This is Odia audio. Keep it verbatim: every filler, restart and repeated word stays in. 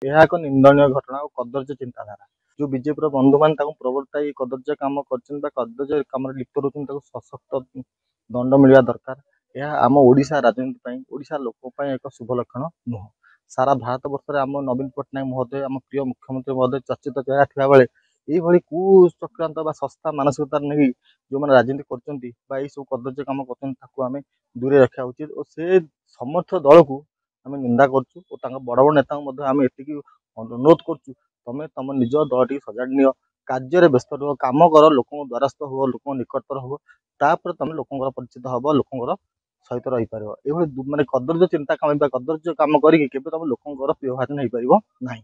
ଏହା ଏକ ନିନ୍ଦନୀୟ ଘଟଣା ଓ କଦର୍ଯ୍ୟ ଚିନ୍ତାଧାରା। ଯେଉଁ ବିଜେପିର ବନ୍ଧୁମାନେ ତାଙ୍କୁ ପ୍ରବର୍ତ୍ତାଇ କଦର୍ଯ୍ୟ କାମ କରିଛନ୍ତି ବା କଦର୍ଯ୍ୟ କାମରେ ଲିପ୍ତ ରହୁଛନ୍ତି, ତାକୁ ସଶକ୍ତ ଦଣ୍ଡ ମିଳିବା ଦରକାର। ଏହା ଆମ ଓଡ଼ିଶା ରାଜନୀତି ପାଇଁ, ଓଡ଼ିଶା ଲୋକ ପାଇଁ ଏକ ଶୁଭ ଲକ୍ଷଣ ନୁହଁ। ସାରା ଭାରତ ବର୍ଷରେ ଆମ ନବୀନ ପଟ୍ଟନାୟକ ମହୋଦୟ, ଆମ ପ୍ରିୟ ମୁଖ୍ୟମନ୍ତ୍ରୀ ମହୋଦୟ ଚର୍ଚ୍ଚିତ ଚେହେରା ଥିବାବେଳେ ଏଇଭଳି କୁଚକ୍ରାନ୍ତ ବା ଶସ୍ତା ମାନସିକତା ନେଇ ଯେଉଁମାନେ ରାଜନୀତି କରୁଛନ୍ତି ବା ଏଇସବୁ କଦର୍ଯ୍ୟ କାମ କରୁଛନ୍ତି, ତାକୁ ଆମେ ଦୂରେଇ ରଖିବା ଉଚିତ ଓ ସେ ସମର୍ଥ ଦଳକୁ ଆମେ ନିନ୍ଦା କରୁଛୁ ଓ ତାଙ୍କ ବଡ଼ ବଡ଼ ନେତାଙ୍କୁ ମଧ୍ୟ ଆମେ ଏତିକି ଅନୁରୋଧ କରୁଛୁ, ତମେ ତମ ନିଜ ଦଳ ଟିକେ ସଜାଡ଼ି ନିଅ, କାର୍ଯ୍ୟରେ ବ୍ୟସ୍ତ ରୁହ, କାମ କର, ଲୋକଙ୍କ ଦ୍ୱାରସ୍ଥ ହୁଅ, ଲୋକଙ୍କ ନିକଟତର ହୁଅ, ତାପରେ ତମେ ଲୋକଙ୍କର ପରିଚିତ ହବ, ଲୋକଙ୍କର ସହିତ ରହିପାରିବ। ଏଇଭଳି ମାନେ କଦର୍ଯ୍ୟ ଚିନ୍ତା କାମ ବା କଦର୍ଯ୍ୟ କାମ କରିକି କେବେ ତମେ ଲୋକଙ୍କର ପ୍ରିୟଭାଜନ ହେଇପାରିବ ନାହିଁ।